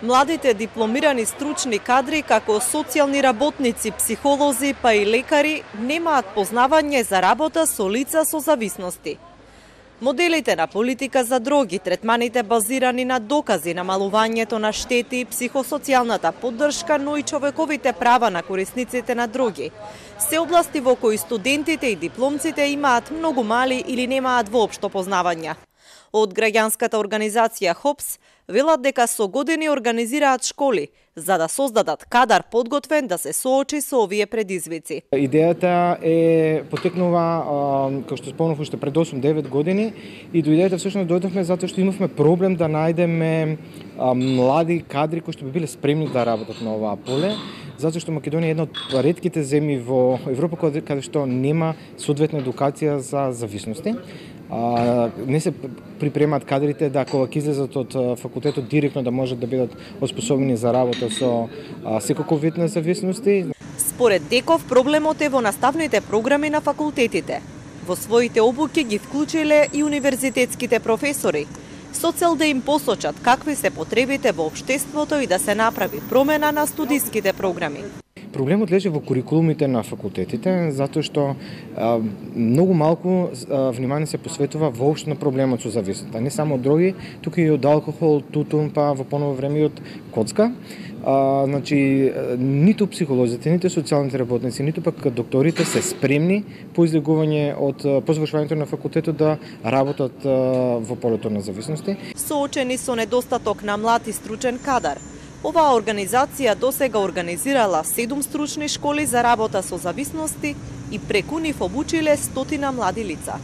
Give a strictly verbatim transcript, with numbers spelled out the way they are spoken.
Младите дипломирани стручни кадри како социјални работници, психолози па и лекари немаат познавање за работа со лица со зависности. Моделите на политика за дроги, третманите базирани на докази, намалувањето на штети, психосоцијалната поддршка, но и човековите права на корисниците на дроги, се области во кои студентите и дипломците имаат многу мали или немаат воопшто познавања. Од граѓанската организација ХОПС велат дека со години организираат школи за да создадат кадар подготвен да се соочи со овие предизвици. Идејата е потекнува, како што спомнав, уште пред осум-девет години и до идејата всушност дојдовме затоа што имавме проблем да најдеме млади кадри кои што би биле спремни да работат на оваа поле, затоа што Македонија е една од ретките земји во Европа каде што нема соодветна едукација за зависности. А, не се припремаат кадрите да кога ќе излезат од факултетот директно да можат да бидат оспособени за работа со а, секој вид на зависности. Според Деков проблемот е во наставните програми на факултетите. Во своите обуки ги вклучиле и универзитетските професори, со цел да им посочат какви се потребите во општеството и да се направи промена на студиските програми. Проблемот лежи во курикулумите на факултетите, затоа што а, многу малку а, внимание се посветува воопшто на проблемот со зависноста. Не само од дроги, туку и од алкохол, тутун, па во поново време и од коцка. А, значи, ниту психолозите, ниту социјалните работници, ниту пак докторите се спремни по излегување од по завршувањето на факултетот да работат а, во полето на зависности. Соочени со недостаток на млад и стручен кадар, оваа организација досега организирала седум стручни школи за работа со зависности и преку нив обучиле стотина млади лица.